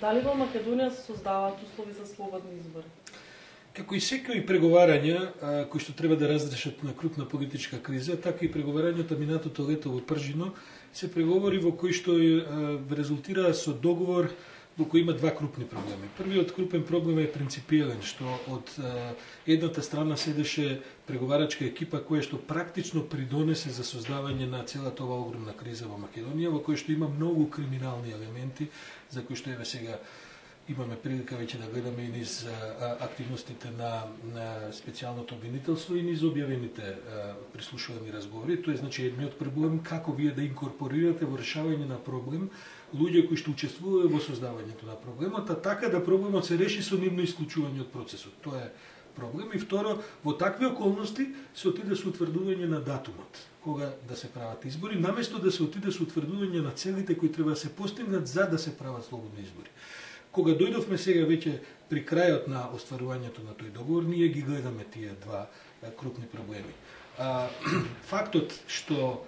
Дали во Македонија се создаваат услови за слободни избори? Како и секои преговарања кои што треба да разрешат на крупна политичка криза, така и преговарањата минатото лето во Пржино се преговори во кои што резултира со договор во кој има два крупни проблеми. Првиот крупен проблем е принципиелен, што од едната страна седеше преговарачка екипа која што практично придонесе за создавање на целата ова огромна криза во Македонија, во која што има многу криминални елементи, за кои што еве сега имаме прилика веќе да гледаме и низ активностите на специјалното обвинителство и низ објавените прислушувани разговори. Тоа е значи едниот проблем како вие да инкорпорирате во решавање на проблем луѓе кои што учествуваат во создавањето на проблемот, а така да проблемот се реши со нивно исклучување од процесот. Тоа е проблем. И второ, во такви околности се отиде со утврдување на датумот кога да се прават избори, наместо да се отиде со утврдување на целите кои треба да се постигнат за да се прават слободни избори. Кога дојдовме сега веќе при крајот на остварувањето на тој договор, ние ги гледаме тие два крупни проблеми. Фактот што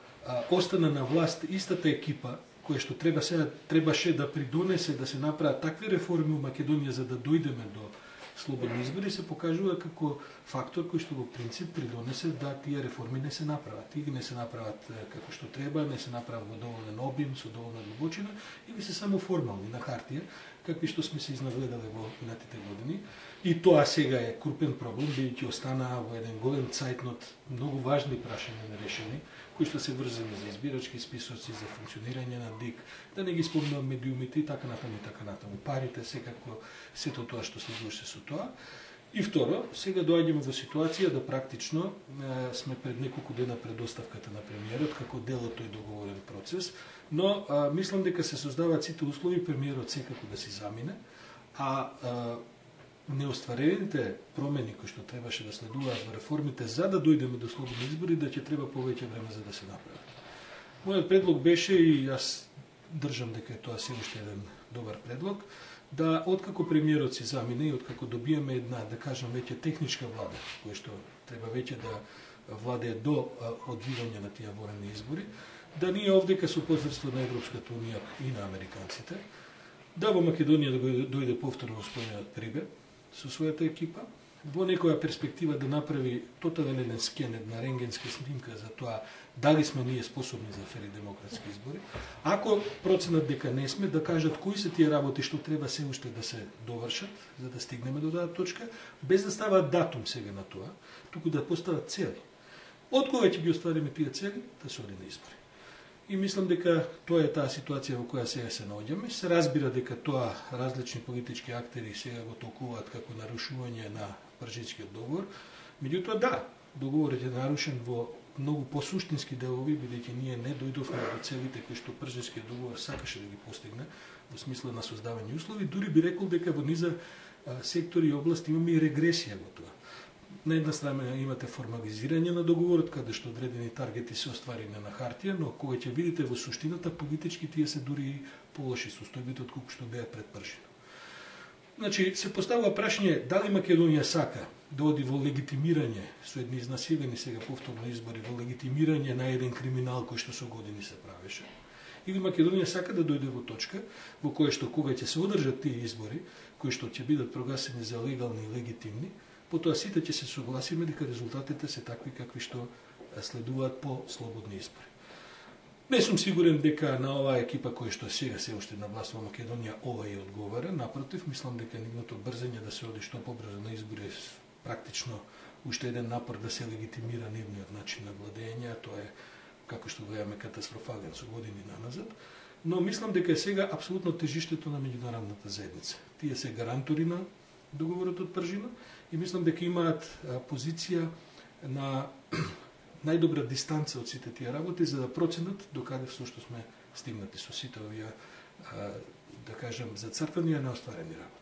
остана на власт истата екипа која што требаше да придонесе да се направат такви реформи во Македонија за да дојдеме до слободни избори, се покажува како фактор кој што во принцип придонесе да тие реформи не се направат. И не се направат како што треба, не се направат во доволен обим, со доволна длабочина, или се само формални на хартија, какви што сме се изнагледале во минатите години. И тоа сега е крупен проблем, бидејќи останаа во еден голем цајтнот многу важни прашања нерешени, кои што се врзани за избирачки списоци, за функционирање на ДИК, да не ги спомнувам медиумите и така натаму. Парите, секако, сето тоа што следуваше со тоа. И второ, сега доаѓаме во ситуација да практично сме пред неколку дена пред оставката на премиерот, како дел од тој договорен процес, но мислам дека се создаваат сите услови премиерот секако да си замине, а неостварените промени кои што требаше да следуваат во реформите за да дојдеме до слободни избори, да ќе треба повеќе време за да се направат. Мојот предлог беше, и јас држам дека тоа се уште еден добар предлог, да откако премиерот си замине и откако добиеме една, да кажам, веќе техничка влада, која што треба веќе да владее до одвивање на тие воени избори, да ние овдека со посредство на Европската унија и на американците, да во Македонија да дојде повторно господинот Прибе со својата екипа, во некоја перспектива да направи тотален скен, една рентгенска снимка за тоа дали сме ние способни за фери демократски избори. Ако проценат дека не сме, да кажат кои се тие работи што треба се уште да се довршат, за да стигнеме до таа точка, без да ставаат датум сега на тоа, туку да постават цели. Од кога ќе ги оствариме тие цели, да се оди на избори. И мислам дека тоа е таа ситуација во која сега се наоѓаме. Се разбира дека тоа различни политички актери сега го толкуваат како нарушување на Пржинскиот договор. Меѓутоа да, договорот е нарушен во многу посуштински делови, бидејќи ние не дојдовме до целите кои што Пржинскиот договор сакаше да ги постигне во смисла на создавање услови. Дури би рекол дека во низа сектори и области имаме и регресија во тоа. На една страна имате формализирање на договорот, каде што одредени таргети се остварени на хартија, но кога ќе видите во суштината, политички тие се дури и полоши состојбите од колку што беа пред Пржино. Значи, се поставува прашање дали Македонија сака да оди во легитимирање со едни изнасилени сега повторно избори, во легитимирање на еден криминал кој што со години се правеше, или Македонија сака да дојде во точка во која што кога ќе се одржат тие избори, кои што ќе бидат прогласени за легални и легитимни, потоа сите ќе се согласиме дека резултатите се такви какви што следуваат по слободни избори. Не сум сигурен дека на оваа екипа која што сега се уште на власт во Македонија ова ја одговара, напротив, мислам дека нивното брзање да се оди што побрзо на избори е практично уште еден напор да се легитимира нивниот начин на владење, тоа е како што гледаме катастрофален со години наназад, но мислам дека е сега апсолутно тежиштето на меѓународната заедница. Тие се гарантори на договорот од Пржино и мислам дека имаат позиција на најдобра дистанца од сите тие работи за да проценат докаде всушност сме стигнати со сите овие, да кажем, зацртани, а неостварени работи.